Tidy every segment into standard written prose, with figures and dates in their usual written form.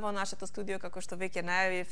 во нашето студио, како што веќе најавив,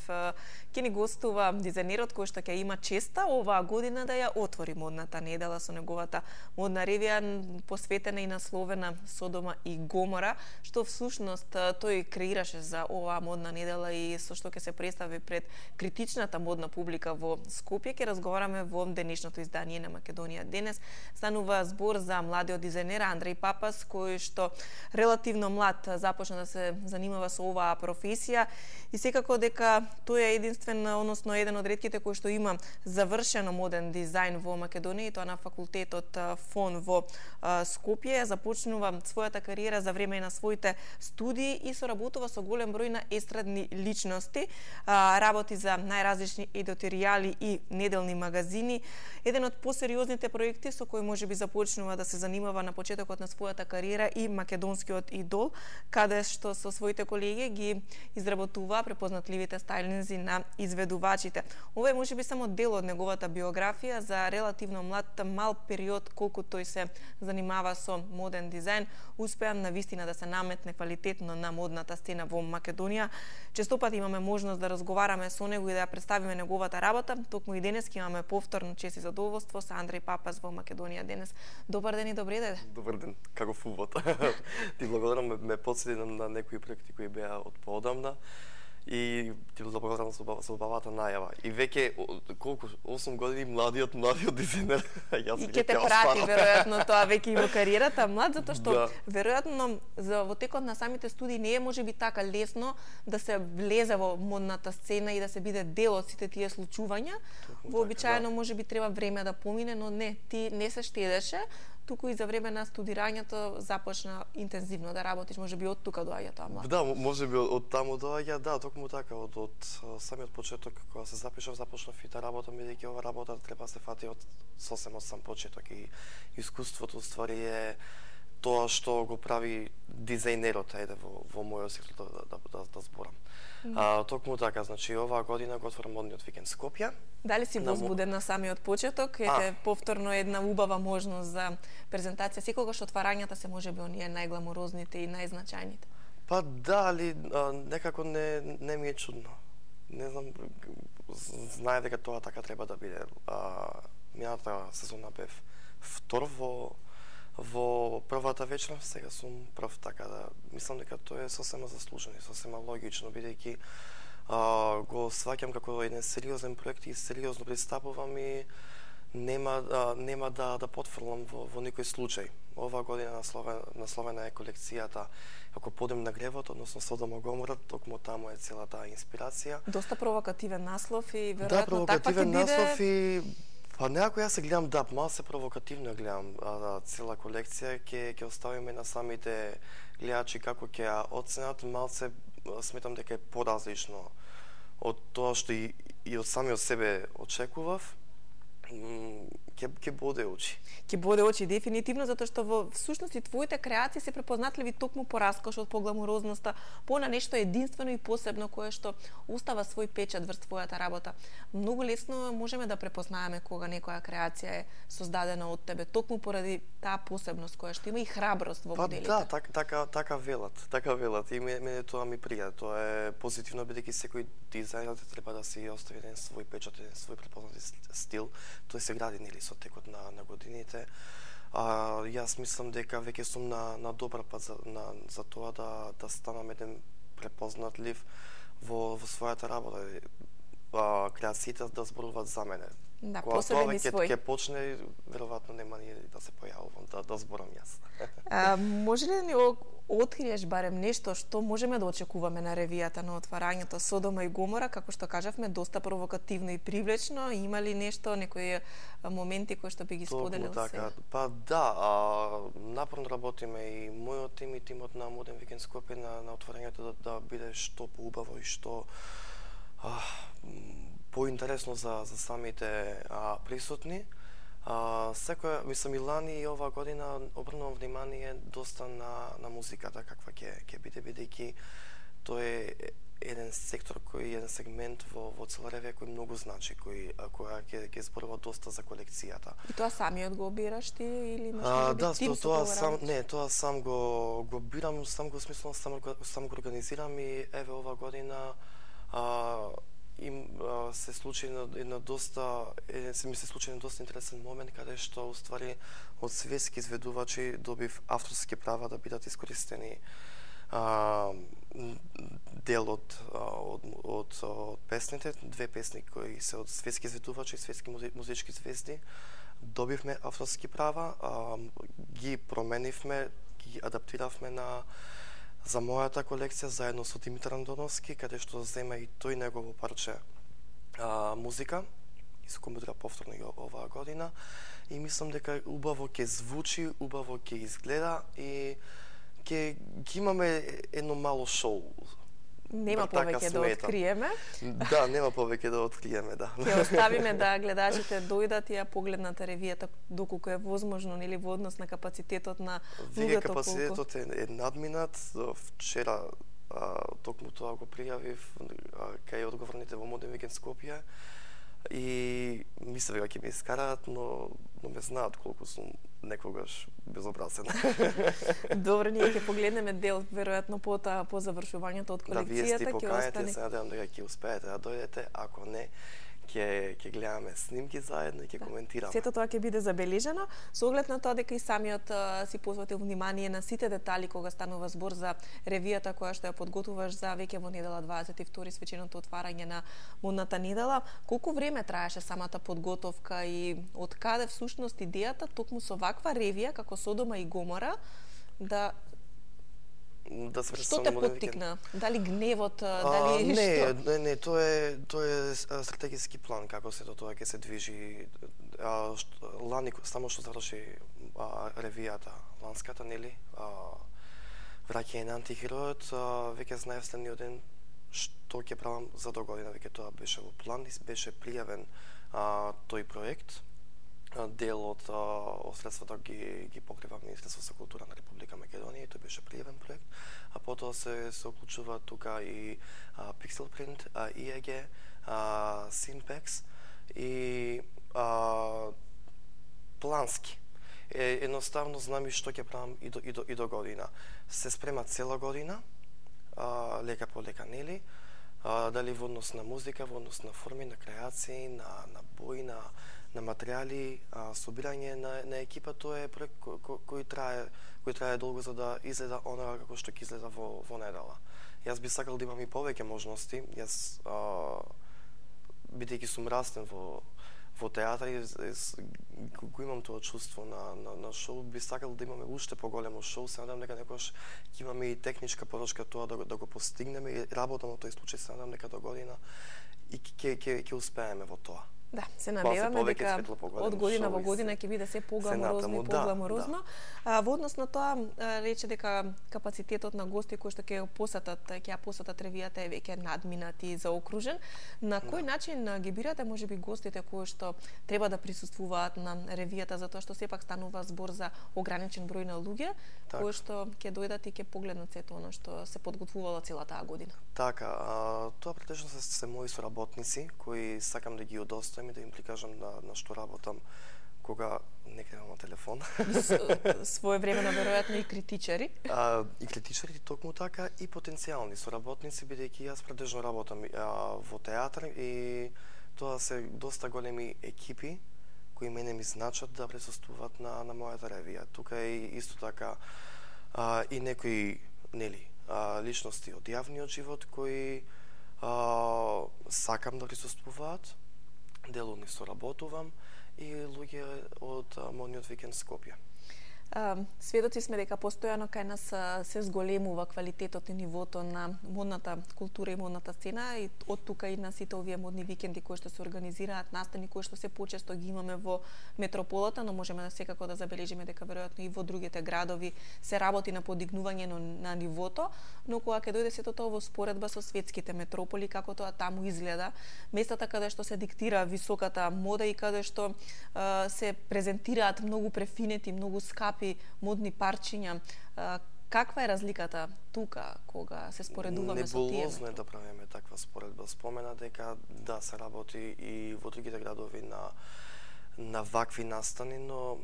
ќе ни гостува дизајнерот кој што ќе има честа оваа година да ја отвори модната недела со неговата модна ревија посветена и насловена Содома и Гомора, што всушност тој креираше за оваа модна недела и со што ќе се представи пред критичната модна публика во Скопје. Ќе разговараме во денешното издание на Македонија денес. Станува збор за младиот дизајнер Андреј Папас, кој што релативно млад започна да се занимава со оваа професија и секако дека тој е единствен, односно еден од ретките кој што има завршено моден дизајн во Македонија, и тоа на факултетот ФОН во Скопје. Започнува својата кариера за време на своите студии и соработува со голем број на естрадни личности, работи за најразлични едиторијали и неделни магазини. Еден од посериозните проекти со кој можеби започнува да се занимава на почетокот на својата кариера и Македонскиот идол, каде што со своите колеги ги изработува препознатливите стајлинзи на изведувачите. Ова е можеби само дел од неговата биографија за релативно мал период колку тој се занимава со моден дизајн, успеа навистина да се наметне квалитетно на модната сцена во Македонија. Честопати имаме можност да разговараме со него и да ја представиме неговата работа. Токму и денес имаме повторно чест и задоволство со Андреј Папас во Македонија денес. Добар ден и добре дојде. Добар ден, како фувот. Ти благодарам, ме подсети на некои проекти кои беа од поодамна и ти благодарам за убавата најава. И веќе колку 8 години младиот дизајнер. Јас и ќе те прати веројатно тоа веќе и во кариерата млад, затоа што веројатно во текот на самите студии не е можеби така лесно да се влезе во модната сцена и да се биде дел од сите тие случувања. Вообичаено можеби треба време да помине, но не, ти не се штедеше, туку и за време на студирањето започна интензивно да работиш, можеби од тука доаѓа тоа млад. Да, можеби од таму доаѓа, да, токму така, од самиот почеток кога се започнав и да работам, бидејќи ова работа треба да се фати од сосем од сам почеток и искуството ствари е тоа што го прави дизајнерот, ајде во мојот сектор да зборам. Токму така, значи оваа година го отворам модниот викенд Скопје. Дали си возбуден на самиот почеток? Ете повторно една убава можност за презентација. Секогаш отварањата се можеби оние најгламурозните и најзначајните. Па да, али некако не ми е чудно. Не знам, знае дека тоа така треба да биде. Мината сезона бев втор во првата вечер, сега сум прв, така да мислам дека тоа е сосема заслужено и сосема логично, бидејќи го сваќам како еден сериозен проект и сериозно пристапувам и нема да потфрлам во никој случај. Оваа година насловена е колекцијата како подем на гревот, односно Содома и Гомора, токму таму е целата инспирација. Доста провокативен наслов и веројатно да, провокативен наслов и па некако јас се гледам, да, мал се провокативно гледам цела колекција, ќе оставиме на самите гледачи како ќе ја оценат, малце сметам дека е поразлично од тоа што и од самиот себе очекував. Ќе боде очи. Ќе боде очи дефинитивно, затоа што во всушност и твоите креации се препознатливи токму по раскошот, по гламурозноста, по на нешто единствено и посебно кое што остава свој печат врз твојата работа. Многу лесно можеме да препознаеме кога некоја креација е создадена од тебе, токму поради таа посебност која што има и храброст во моделите. Да, така велат. И мене тоа ми прија. Тоа е позитивно, бидејќи секој дизајнер треба да си остави еден свој печат, еден свој препознати стил. Тој се гради нели со текот на годините. Јас мислам дека веќе сум на добар пат за тоа да станам еден препознатлив во својата работа. Креациите да зборуваат за мене. Да, кога посебен и свој. Ќе почне, веројатно нема ни да се појавувам, да зборам јас. Може ли да ни откриеш барем нешто што можеме да очекуваме на ревијата на отварањето Содома и Гомора, како што кажавме, доста провокативно и привлечно? Има ли нешто, некои моменти кои што би ги споделил така. Па да, напорно работиме и мојот тим и тимот на Моден викенд Скопје на отварањето да биде што поубаво и што поинтересно за самите присутни. Секоја, мислам, и лани и ова година обрнувам внимание доста на музиката каква ќе биде, бидејќи тоа е еден сектор еден сегмент во цела ревија кој многу значи, која ќе зборува доста за колекцијата. И тоа самиот го бираш ти или имаш да, тим со тоа сам тоа сам го бирам, сам го смислам, сам го организирам и еве ова година се случи една доста интересен момент каде што уствари од светски изведувачи добив авторски права да бидат искористени дел од песните, две песни кои се од светски изведувачи, светски музички звезди. Добивме авторски права, ги променивме, ги адаптиравме за мојата колекција заедно со Димитар Андоновски, каде што зема и тој негово парче музика и се коментира повторно и оваа година. И мислам дека убаво ќе звучи, убаво ќе изгледа и ќе имаме едно мало шоу. Нема повеќе да откриеме. Да, нема повеќе да откриеме, да. Ќе оставиме да гледачите дојдат и ја погледнат ревијата доколку е возможно, нели во однос на капацитетот на луѓето. Капацитетот е надминат. Вчера токму тоа го пријавив кај одговорните во Моден викенд Скопје и мислев дека ќе ме искараат, но ме знаат колку сум некогаш безобразен. Добро, ние ќе погледнеме дел веројатно по завршувањето од колекцијата. Да, вие сте поканите, се надевам дека ќе успеете да дојдете, ако не, ќе гледаме снимки заедно и ќе коментираме. Сето тоа ќе биде забележано, со оглед на тоа дека и самиот си посветил внимание на сите детали кога станува збор за ревијата која што ја подготвуваш за веќе во недела 22 свеченото отварање на Модната недела. Колку време траеше самата подготовка и од каде всушност идејата токму со ваква ревија како Содома и Гомора да што те поттикна? Дали гневот, дали што? Не, тоа е стратегиски план како сето тоа ќе се движи. Лани само што заврши ревијата ланската, нели? Враќање на антихеројот, веќе знаев следниот ден што ќе правам за до година, веќе тоа беше во план и беше пријавен тој проект. Дел од средствата ги покрива Министерство за култура на Република Македонија и тој беше пријавен проект, а потоа се уклучува тука и Pixelprint, IEG, Synpex и плански. Едноставно знам и што ќе правам и до година. Се спрема цела година, лека по лека, нели? Дали во однос на музика, во однос на форми, на креации, на бои, на материјали, собирање на екипа, тоа е проект кој трае долго за да изгледа онаа како што ќе изгледа во недела. Јас би сакал да имам и повеќе можности. Јас бидејќи сум растен во театар и го имам тоа чувство на шоу, би сакал да имаме уште поголемо шоу. Се надам дека некогаш ќе имаме и техничка поддршка тоа да го постигнеме и работа на тој случај. Се надам дека до година и ќе успееме во тоа. Да, се надеваме дека од година во година ќе биде се погламорозно и погламорозно. Во однос на тоа рече дека капацитетот на гости кои што ќе посетат ревијата е веќе надминат и заокружен. На кој начин ги бирате можеби гостите кои што треба да присуствуваат на ревијата, затоа што сепак станува збор за ограничен број на луѓе кои што ќе дојдат и ќе погледнат сето оно што се подготвувало целата таа година? Така, тоа претежно се мои соработници кои сакам да ги удостојам и да им прикажам на што работам кога не гледам на телефон. Своевремено веројатно и критичари. И критичари токму така и потенцијални соработници, бидејќи јас претежно работам во театар и тоа се доста големи екипи кои мене ми значат да присуствуваат на мојата ревија. Тука е исто така и некои, нели, личности од јавниот живот кои сакам да присуствуваат, дел од нив соработувам и луѓе од Модниот викенд Скопје. Сведоци сме дека постојано кај нас се зголемува квалитетот и нивото на модната култура и модната сцена и од тука и на сите овие модни викенди кои што се организираат, настани кои што се почесто ги имаме во метрополата, но можеме да секако да забележиме дека веројатно и во другите градови се работи на подигнување на нивото, но кога ќе дојде сето тоа во споредба со светските метрополи, како тоа таму изгледа, местата каде што се диктира високата мода и каде што се презентираат многу префинети, многу скапи модни парчиња, Каква е разликата тука кога се споредуваме со тие? Небулозно е да правиме таква споредба. Спомена дека да се работи и во другите градови на вакви настани, но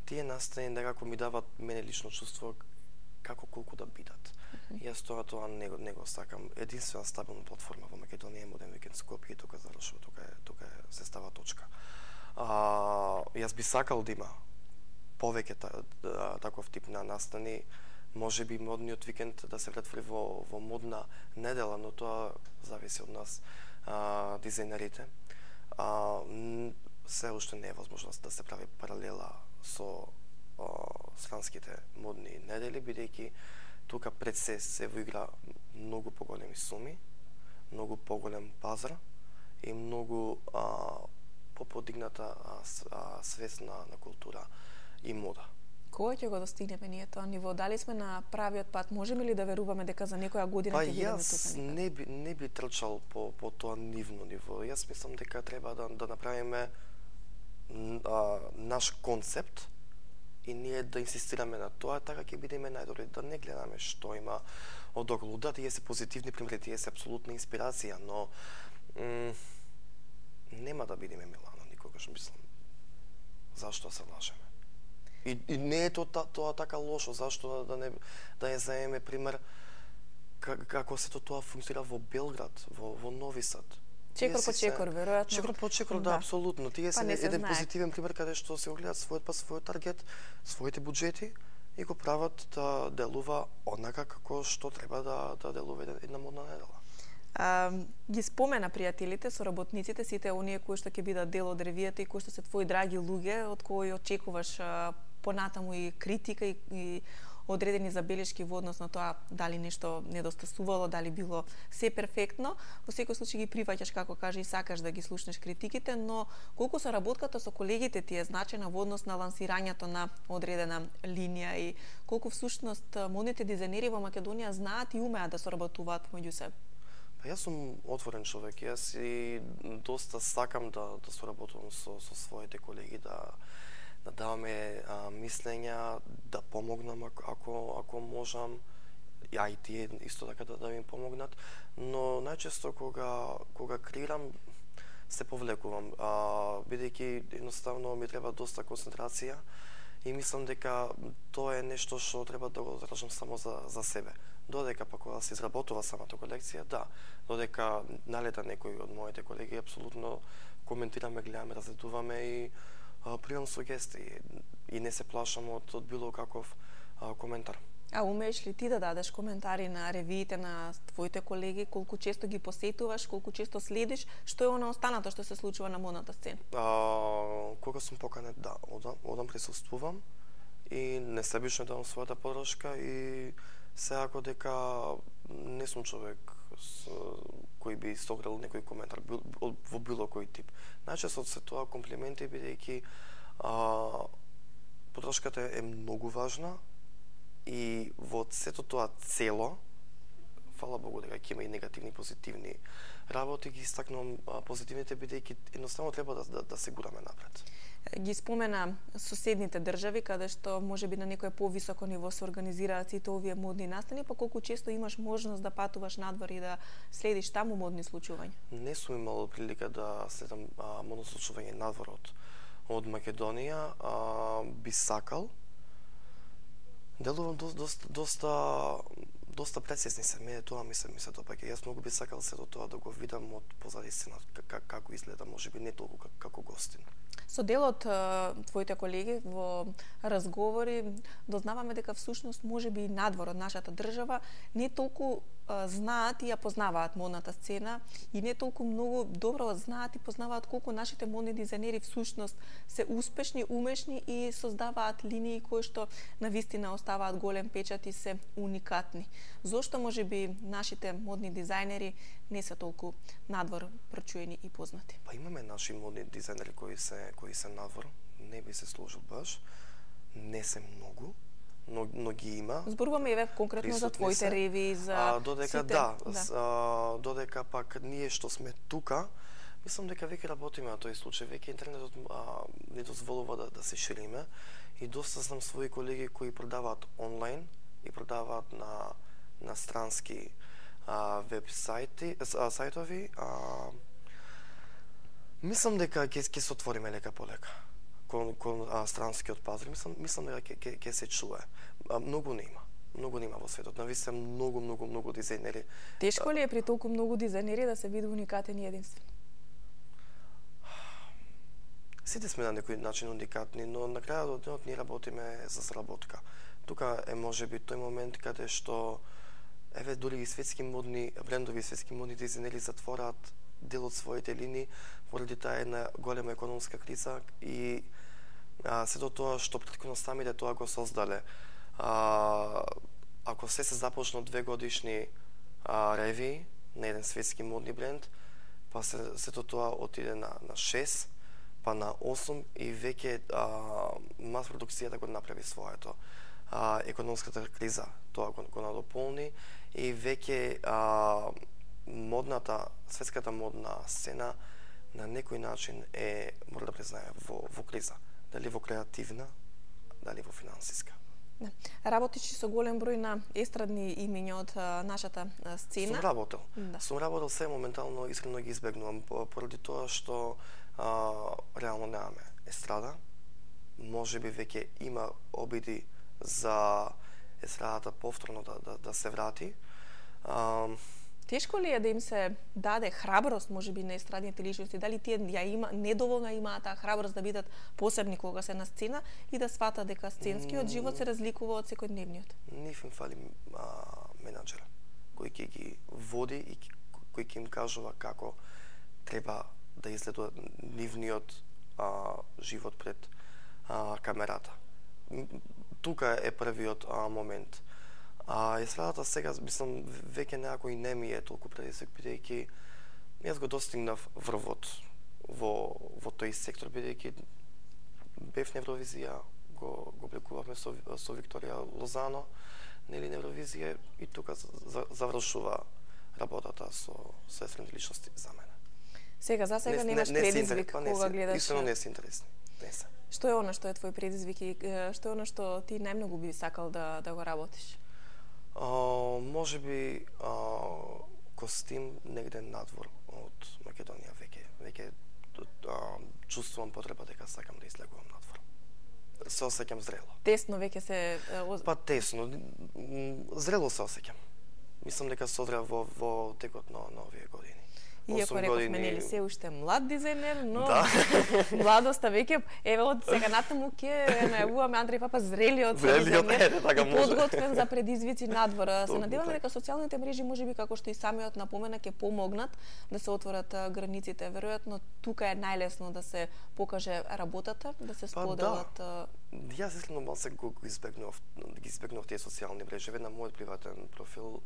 тие настани некако ми дават мене лично чувство како колку да бидат. Јас тоа не го сакам. Единствена стабилна платформа во Македонија е Модерн Викенд Скопје и тука завршува, тука се става точка. Јас би сакал да има повеќе таков тип на настани, може би модниот викенд да се претвори во модна недела, но тоа зависи од нас, дизајнерите. Се уште не е возможно да се прави паралела со странските модни недели, бидејќи тука пред се во игра многу поголеми суми, многу поголем пазар и многу поподигната свест на култура и мода. Кога ќе го достигнеме ние тоа ниво? Дали сме на правиот пат? Можеме ли да веруваме дека за некоја година ќе бидеме тука? Јас не би трчал по тоа нивно ниво. Јас мислам дека треба да направиме наш концепт и ние да инсистираме на тоа, така ќе бидеме најдобри, да не гледаме што има одоколу. Да, тие се позитивни примери, тие се апсолутна инспирација, но нема да бидеме Милано никогаш, мислам. Зашто се лажеме? И не е тоа така лошо, зашто да не заеме пример како се тоа функционира во Белград, во Нови Сад. Чекор по чекор, веројатно. Чекор по чекор, да, апсолутно. Тие се еден позитивен пример каде што се огледаат својот таргет, своите буџети и го прават да делува однака како што треба да делува една модна недела. Ги спомена пријателите, соработниците, сите оние кои што ќе бидат дел од ревијата и кои што се твои драги луѓе, од кои очекуваш понатаму и критика и одредени забелешки во однос на тоа дали нешто недостасувало, дали било се перфектно. Во секој случај ги прифаќаш, како кажа, и сакаш да ги слушнеш критиките, но колку соработката со колегите ти е значена во однос на лансирањето на одредена линија и колку всушност модните дизајнери во Македонија знаат и умеат да соработуваат помеѓу себе? Јас сум отворен човек, јас и доста сакам да соработувам со своите колеги, да даваме мислења, да помогнам ако можам, и тие исто така да ми помогнат, но најчесто кога креирам се повлекувам, бидејќи едноставно ми треба доста концентрација и мислам дека тоа е нешто што треба да го задржам само за себе. Додека па кога се изработува самата колекција, да, додека налета некој од моите колеги, апсолутно коментираме, гледаме, разгледуваме и примам сугестии и не се плашам од било каков коментар. А умееш ли ти да дадеш коментари на ревиите на твоите колеги, колку често ги посетуваш, колку често следиш, што е она останато што се случува на модната сцена? Кога сум поканет, да, одам присуствувам и несебично давам својата подршка и секако дека не сум човек кој би согрел некој коментар во било кој тип. Најчесто се тоа комплименти, бидејќи подршката е многу важна и во сето тоа цело, фала Богу дека ќе има и негативни и позитивни работи, ги истакнувам позитивните, бидејќи едноставно треба да се гураме напред. Ги спомена соседните држави, каде што можеби на некое повисоко ниво се организираат сите овие модни настани, па колку често имаш можност да патуваш надвор и да следиш таму модни случувања? Не сум имал прилика да следам модно случување надвор од Македонија, би сакал. Делувам доста прецизни се, мене тоа ми се допаѓа. Јас многу би сакал сето тоа да го видам од позади сцена како изгледа, можеби не толку како гостин. Со дел од твоите колеги во разговори дознаваме дека всушност можеби и надвор од нашата држава не толку знаат и ја познаваат модната сцена и не толку многу добро знаат и познаваат колку нашите модни дизајнери всушност се успешни, умешни и создаваат линии кои што навистина оставаат голем печат и се уникатни. Зошто можеби нашите модни дизајнери не се толку надвор прочуени и познати? Па имаме наши модни дизајнери кои се надвор, не би се сложил баш, не се многу, но ги има. Зборуваме еве конкретно за твоите реви, за додека сите. Додека пак ние што сме тука, мислам дека веќе работиме на тој случај, веќе интернетот не дозволува да се шириме и доста знам своји колеги кои продаваат онлайн и продаваат на странски веб сајтови. Мислам дека ќе се отвориме лека по лека кон странскиот пазар. Мислам дека ќе се чуе. Многу нема во светот. Навистина многу дизајнери. Тешко ли е при толку многу дизајнери да се биде уникатен и единствен? Сите сме на некој начин уникатни, но на крајот од денот ние работиме за заработка. Тука е можеби тој момент каде што дури и светски модни брендови, светски модни дизајнери затвораат дел од своите линии поради таа една голема економска криза и сето тоа што претходно самите тоа го создале. Ако се започна 2 годишни реви на еден светски модни бренд, па сето тоа отиде на 6, па на 8 и веќе мас продукцијата го направи своето. Економската криза тоа го надополни и веќе светската модна сцена на некој начин мора да признае во криза. Дали во креативна, дали во финансиска. Да. Работиш со голем број на естрадни имиња од нашата сцена. Сум работел се моментално, искрено ги избегнувам поради тоа што реално немаме естрада. Можеби веќе има обиди за естрадата повторно да се врати. Тешко ли е да им се даде храброст, можеби, на естрадните личности? Дали тие недоволно имаат таа храброст да бидат посебни кога се на сцена и да сватат дека сценскиот живот се разликува од секојдневниот? Ниф им фали менаџер кој ќе ги води и кој ќе им кажува како треба да изгледа нивниот живот пред камерата. Тука е првиот момент. Естрадата сега, мислам, веќе некако и не ми е толку предизвик, бидејќи јас го достигнав врвот во тој сектор, бидејќи бев на Евровизија, го блекувавме со Викторија Лозано, нели на Евровизија, и тука завршува работата со естрадни личности за мене. Сега, за сега немаш предизвик кога гледаш? Истина не се интересни. Не се. Што е она што е твој предизвик и што е она што ти најмногу би сакал да го работиш? Можеби костим негде надвор од Македонија веќе чувствувам потреба дека сакам да излегувам надвор. Се осеќам зрело. Тесно веќе се Па тесно, зрело се осеќам. Мислам дека созрев во текот на овие години. Иако рековме, нели се уште млад дизајнер, но младоста веќе, еве од сега натаму ќе најавуваме Андреј Папа зрелиот дизајнер, подготвен за предизвици надвора. Се надеваме дека социјалните мрежи можеби како што и самиот напомена ќе помогнат да се отворат границите. Веројатно тука е најлесно да се покаже работата, да се споделат. Јас искрено малце ги избегнав тие социјални мрежи. На мојот приватен профил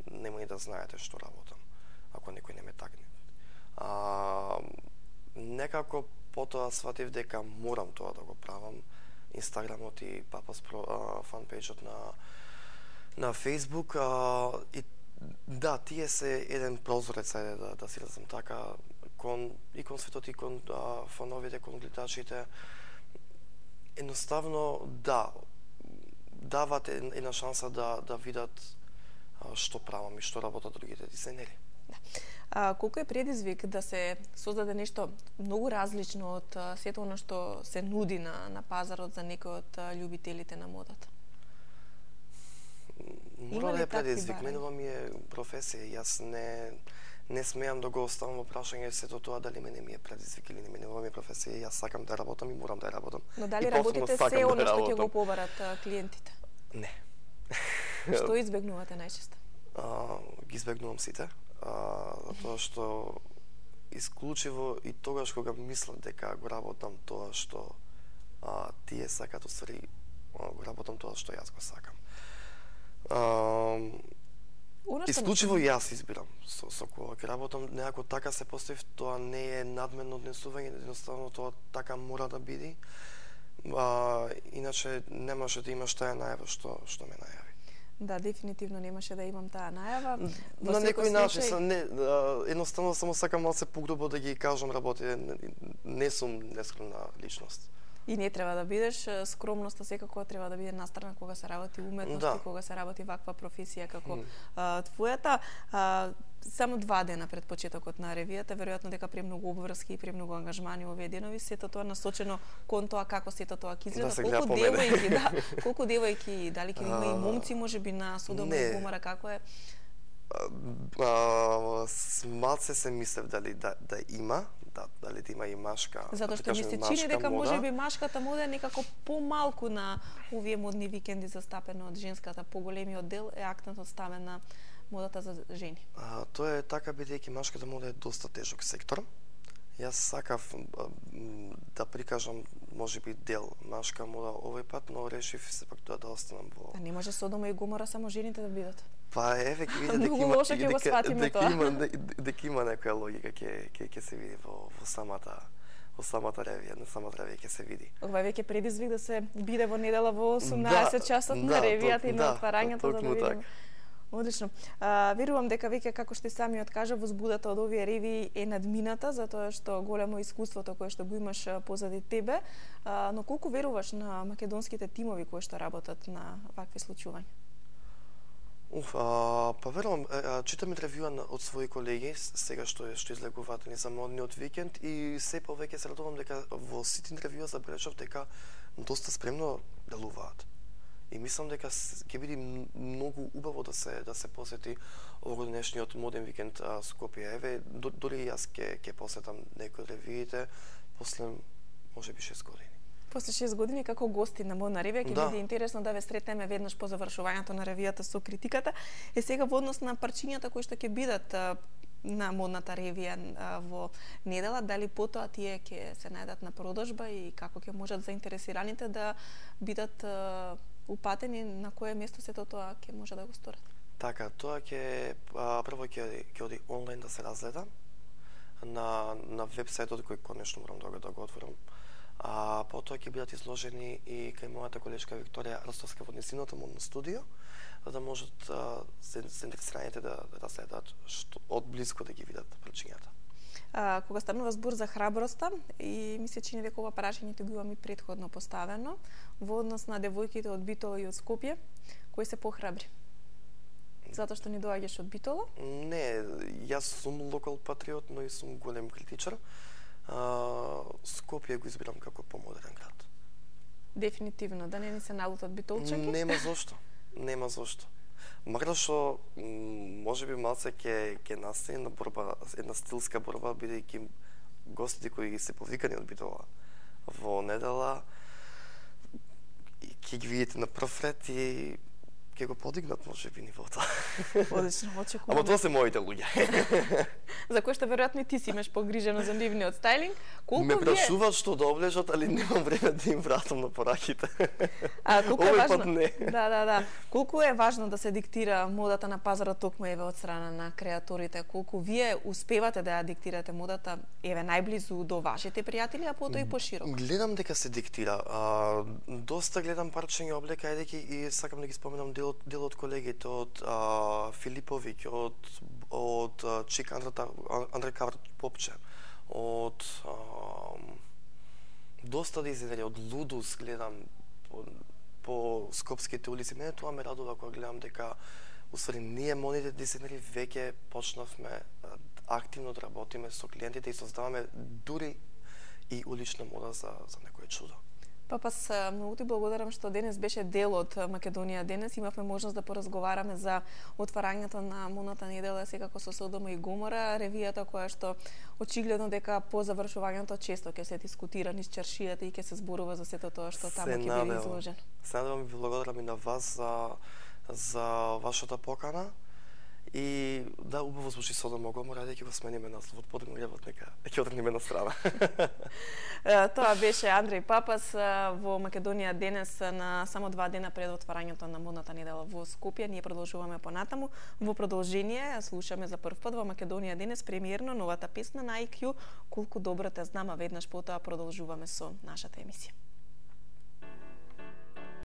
нема и да знаете што работам, ако некој не ме тагне. Некако потоа сватив дека морам тоа да го правам. Инстаграмот и Папас фанпејџот на Фејсбук. И да, тие се еден прозорец, да си разум така, кон светот и кон фановите, кон гледачите. Едноставно, дават една шанса да видат што правам и што работат другите дизајнери. Колку е предизвик да се создаде нешто многу различно од сето оно што се нуди на пазарот за некој од љубителите на модата? Мора да е предизвик. Менува ми е професија. Јас не смеам да го оставам во прашање сето тоа дали мене ми е предизвик или не. Менува ми е професија. Јас сакам да работам и морам да работам. Но дали работите се оно што ќе го побарат клиентите? Не. Што избегнувате најчесто? Ги избегнувам сите. Затоа што исклучиво и тогаш кога мислам дека го работам тоа што тие сакат, усвари го работам тоа што јас го сакам. Исклучиво јас избирам со кога ќе работам, некако така се поставив, тоа не е надменно однесување, едноставно тоа така мора да биде. Иначе немаше да имаш таа најава што ме најави. Да, дефинитивно немаше да имам таа најава. На некој начин, едноставно само сакам малце погрубо да ги кажам работите, не сум нескромна личност. И не треба да бидеш, скромноста секако треба да биде настрана кога се работи уметност и кога се работи ваква професија како твојата. Само 2 дена пред почетокот на ревијата, веројатно дека премногу обврски и премногу ангажмани овие денови, сето тоа насочено кон тоа како сето тоа ќе изгледа, колку девојки, дали ќе има и момци можеби на Содома и Гомора, како е? Малце се мислев дали да има, дали да има и машка. Затоа што ми се чини дека можеби машката мода е некако помалку на овие модни викенди застапено од женската, поголемиот дел е акцентот ставен на модата за жени. Тоа е така, бидејќи машката мода е доста тежок сектор. Јас сакав да прикажам можеби дел машка мода овој пат, но решив сепак тоа да останам во... А не може Содома и Гомора само жените да бидат? Па еве ќе види дека има некоја логика ќе се види во самата ревија, на самата ревија ќе се види. Ова е веќе предизвик да се биде во недела во 18 часот на ревијата и на отварањето да видиме. Одлично. Верувам дека веќе, како што и самиот кажа, возбудата од овие ревии е надмината, затоа што големо искуството кое што го имаш позади тебе, но колку веруваш на македонските тимови кои што работат на вакви случувања? Па верувам, читам интервјуа од своји колеги сега што излегуваат за модниот викенд и се повеќе се радувам дека во сите интервјуа забележав дека доста спремно делуваат. И мислам дека ќе биде многу убаво да се посети овогодишниот моден викенд Скопје. Еве, дори јас ќе посетам некои ревиите после можеби 6 години. После 6 години како гости на модна ревија ќе биде интересно да ве сретнеме веднаш по завршувањето на ревијата со критиката. Сега во однос на парчињата кои што ќе бидат на модната ревија во недела, дали потоа тие ќе се најдат на продажба и како ќе можат заинтересираните да бидат упатени на кое место сето тоа ќе може да го сторат? Така, тоа прво ќе оди онлайн да се разгледа на вебсајтот кој конечно морам да го отворам. А потоа ќе бидат изложени и кај мојата колешка Викторија Ростовска во нејзиното модно студио, за да можат заинтересираните да разгледаат од близко да ги видат причињата. Кога станува збор за храброста, и ми се чини дека ова прашање го имам и претходно поставено, во однос на девојките од Битола и од Скопје, кои се похрабри? Затоа што не доаѓаш од Битола? Не, јас сум локал патриот, но и сум голем критичар. Скопје го избирам како помодерен град. Дефинитивно, да не ни се налутат битолчаки? Нема зошто. Макар што можеби малце ќе настане на борба, една стилска борба, бидејќи гостите кои се повикани од Битола во недела ќе ги видите на прв ред и ќе го подигнат можеби нивото. Одлично, очекувам. Ама тоа се моите луѓе. За кој што веројатно и ти си имаш погрижено за нивниот стајлинг. Ме прашуваат што да облежат, али немам време да им вратам на пораките. Колку е важно? Не. Да. Колку е важно да се диктира модата на пазарот токму еве од страна на креаторите? Колку вие успевате да ја диктирате модата еве најблизу до вашите пријатели, а потоа и пошироко? Гледам дека се диктира. Доста гледам парчења облека, едејќи и сакам да ги споменам дел од колегите од Филиповиќ, од Чик Андре Кавр Попче, од доста дизајнери, од Лудус гледам по скопските улици. Мене тоа ме радува кога гледам дека усвари ние модните дизајнери веќе почнавме активно да работиме со клиентите и создаваме дури и улична мода за некое чудо. Папас, многу ти благодарам што денес беше дел од Македонија денес. Имавме можност да поразговараме за отварањето на модната недела секако со Содома и Гомора, ревијата која што очигледно дека по завршувањето често ќе се дискутира низ чаршијата и ќе се зборува за сето тоа што таму ќе биде изложено. Се надевам и благодарам и на вас за вашата покана. И да, убаво звучи Содома и Гомора, ќе го смениме насловот, подмогревот нека ќе отргнеме на страна. Тоа беше Андреј Папас во Македонија денес на само 2 дена пред отварањето на модната недела во Скопје. Ние продолжуваме понатаму. Во продолжение слушаме за прв пат во Македонија денес премиерно новата песна на IQ Колку добро те знам, а веднаш потоа продолжуваме со нашата емисија.